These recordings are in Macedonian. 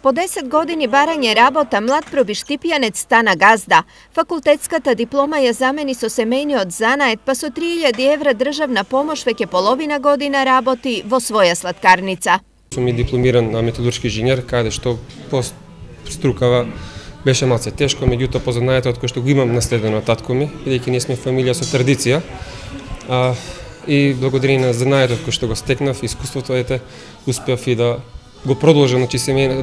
По 10 години барање работа, млад пробиштипјанец стана газда. Факултетската диплома ја замени со семејниот занает, па со 3000 евра државна помош веќе половина година работи во своја сладкарница. Сум и дипломиран на металуршки инженер, каде што по струкава беше малце тешко, меѓутоа по занаетот кој што го имам наследено од татко ми, бидејќи ние сме фамилија со традиција. И благодарение на занаетот кој што го стекнав, искуството успеав и да го продолжам,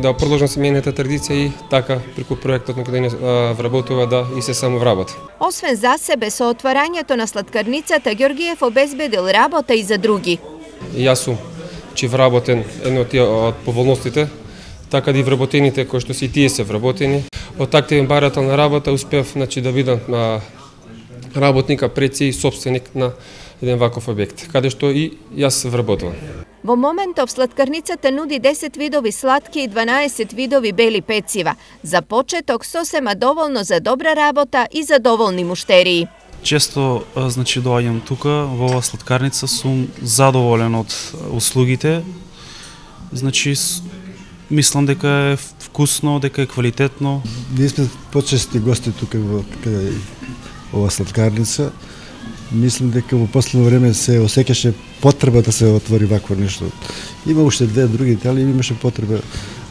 да продолжам семејната традиција и така преку проектот на кој денес вработува да и се само вработи. Освен за себе, со отварањето на сладкарницата, Ѓоргиев обезбедил работа и за други. Јас сум вработен едно од тие од поволностите, така да и вработените кои што си тие се вработени. Од активен барателна работа успеав да бидам работника пред се и собственик на еден ваков објект, каде што и јас вработувам. Во моментов сладкарницата нуди 10 видови сладки и 12 видови бели пецива. За почеток сосема доволно за добра работа и задоволни муштерии. Често доаѓам тука во оваа сладкарница, сум задоволен од услугите. Мислам дека е вкусно, дека е квалитетно. Ние сме почести гости тука во оваа сладкарница. Мислам дека во последно време се осеќаше потреба да се отвори вакво нешто. Има уште две други, али имаше потреба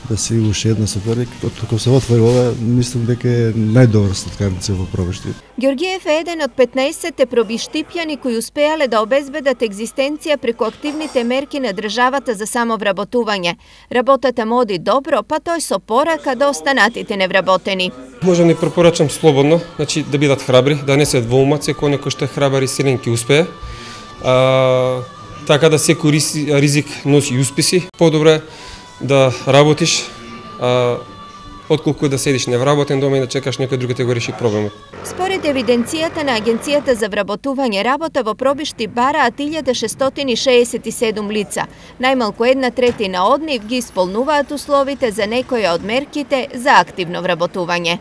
да се уште една се отвори. Кога се отвори ова, мислам дека е најдобра сладкарница во Пробиштип. Ѓоргиев е еден од 15 пробиштипјани кои успеале да обезбедат екзистенција преку активните мерки на државата за самовработување. Работата му оди добро, па тој со порака до останатите невработени. Можам да препорачам слободно, да бидат храбри, да не се во умат, секој некој што е храбар и силен ќе успее. Така да секој ризик носи и успеси. Подобро е да работиш, отколку да седиш невработен дома и да чекаш некој друг да го реши проблемот. Според евиденцијата на Агенцијата за вработување, работа во Пробиштип бараат 1667 лица. Најмалку 1/3 од нив ги исполнуваат условите за некоја од мерките за активно вработување.